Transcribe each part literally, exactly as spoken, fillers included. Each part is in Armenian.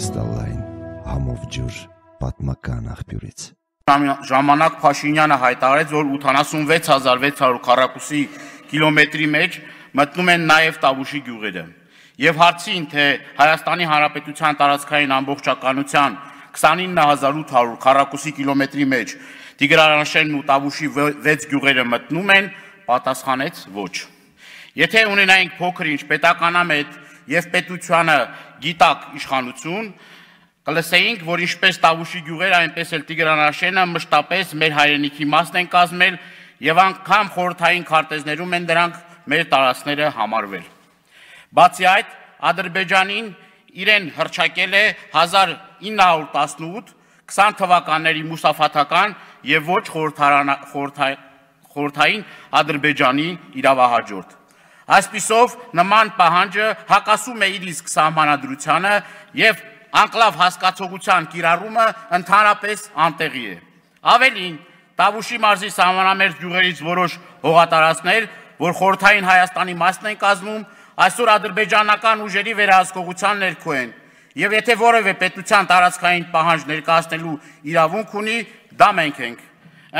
կրիստալային համով ջուր պատմական աղբյուրից։ Ժամանակ Փաշինյանը հայտարարեց, որ ութանասունվեց հազար վեց հարյուր քառակուսի կիլոմետրի մեջ մտնում են նաև Տավուշի գյուղերը։ Եվ հարցին, թե Հայաստանի Հանրապետության տարածքային ամբողջականության քսանինը հազար ութ հարյուր քառակուսի կիլոմետրի մեջ Տիգրանաշենն ու Տավուշի վեց գյուղերը մտնում են, պատասխանեց ոչ։ Եթե ունենայինք փոքր-ինչ պետականամետ եւ պետությանը գիտակ իշխանություն, կլսեինք, որ ինչպես Տավուշի գյուղերը, այնպես էլ Տիգրանաշենը մշտապես մեր հայրենիքի մասն են կազմել եւ անգամ խորհրդային քարտեզներում են դրանք մեր տարածքները համարվել։ Բացի այդ, Ադրբեջանին իրեն հռչակել է հազար ինը հարյուր տասնութ քսան թվականների մուսաֆաթական եւ ոչ խորհրդային Ադրբեջանի իրավահաջորդ։ Այսպիսով նման պահանջը հակասում է իր իսկ սահմանադրությանը եւ անկլավ հասկացողության կիրառումը ընդհանրապես անտեղի է։ Ավելին, Տավուշի մարզի սահմանամերձ գյուղերից որոշ հողատարածքներ, որ խորհրդային Հայաստանի մասն են կազմում, այսօր ադրբեջանական ուժերի վերահսկողության ներքո են, եւ եթե որևէ պետության տարածքային պահանջ ներկայացնելու իրավունք ունի, դա մենք ենք։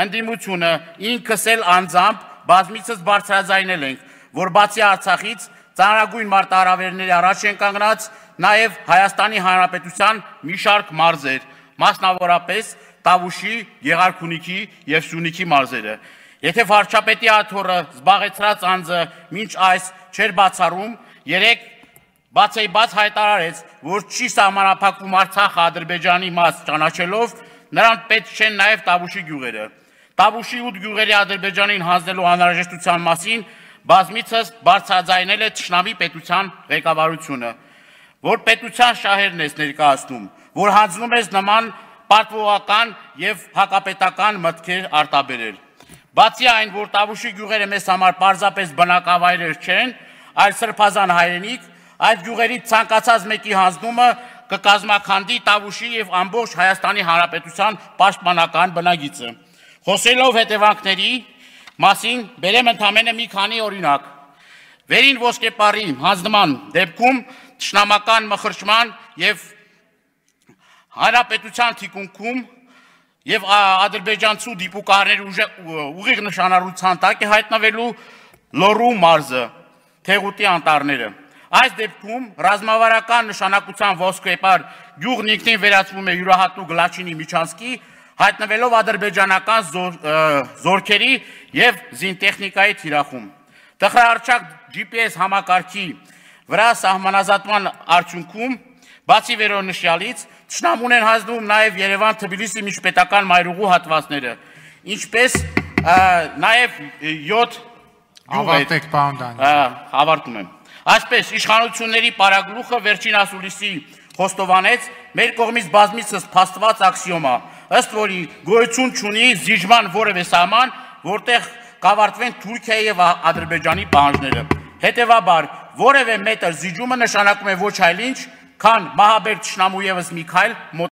Ընդդիմությունը ինքս էլ անձամբ բազմիցս բարձրաձայնել ենք, որ բացի Արցախից ծանրագույն մարտահրավերների առաջ են կանգնած նաև Հայաստանի Հանրապետության մի շարք մարզեր, մասնավորապես Տավուշի, Գեղարքունիքի եւ Սյունիքի մարզերը։ Եթե վարչապետի աթոռը զբաղեցրած անձը մինչ այս չէր բացառում, երեք բացեիբաց հայտարարեց, որ չի սահմանափակվում Արցախը Ադրբեջանի մաս ճանաչելով, նրան պետք չեն նաև Տավուշի գյուղերը։ Տավուշի ութ գյուղերի Ադրբեջանին հանձնելու անհրաժեշտության մասին բազմիցս բարձրաձայնել է թշնամի պետության ղեկավարությունը, որ պետության շահերն ես ներկայացնում, որ հանձնում ես նման պարտվողական եւ հակապետական մտքեր արտաբերել։ Բացի այն, որ Տավուշի գյուղերը մեզ համար պարզապես բնակավայրեր չեն, այլ սրբազան հայրենիք, այդ գյուղերի ցանկացած մեկի հանձնումը կկազմաքանդի Տավուշի եւ ամբողջ Հայաստանի Հանրապետության պաշտպանական բնագիծը։ Խոսելով հետևանքների մասին բերեմ ընդամենը մի քանի օրինակ։ Վերին ոսկեպարի հանձնման դեպքում թշնամական մխրճման եւ հանրապետության թիկունքում եւ ադրբեջանցու դիպուկարների ուղիղ նշանառության տակ է հայտնվելու Լոռու մարզը, Թեղուտի անտառները։ Այս դեպքում ռազմավարական նշանակության ոսկեպար գյուղն ինքնին վերածվում է յուրահատուկ Լաչինի Միչանսկի, հայտնվելով ադրբեջանական զորքերի եւ զինտեխնիկայի թիրախում։ Տխրահարչակ ջի պի էս համակարգի վրա սահմանազատման արդյունքում, բացի վերոնշյալից, թշնամուն են հանձնում նաև Երևան-Թբիլիսի միջպետական մայրուղու հատվածները, ինչպես նաև յոթ Ավարտեք, պարոն Դանիել։ Ավարտում եմ։ Այսպես, իշխանությունների պարագլուխը վերջին ասուլիսի խոստովանեց մեր կողմից բազմիցս փաստված աքսիոմա, ըստ որի գոյություն չունի զիջման որևէ սահման, որտեղ կավարտվեն Թուրքիայի եւ Ադրբեջանի պահանջները։ Հետևաբար, որևէ մետր զիջումը նշանակում է ոչ այլ ինչ, քան մահաբեր թշնամու ևս մի քայլ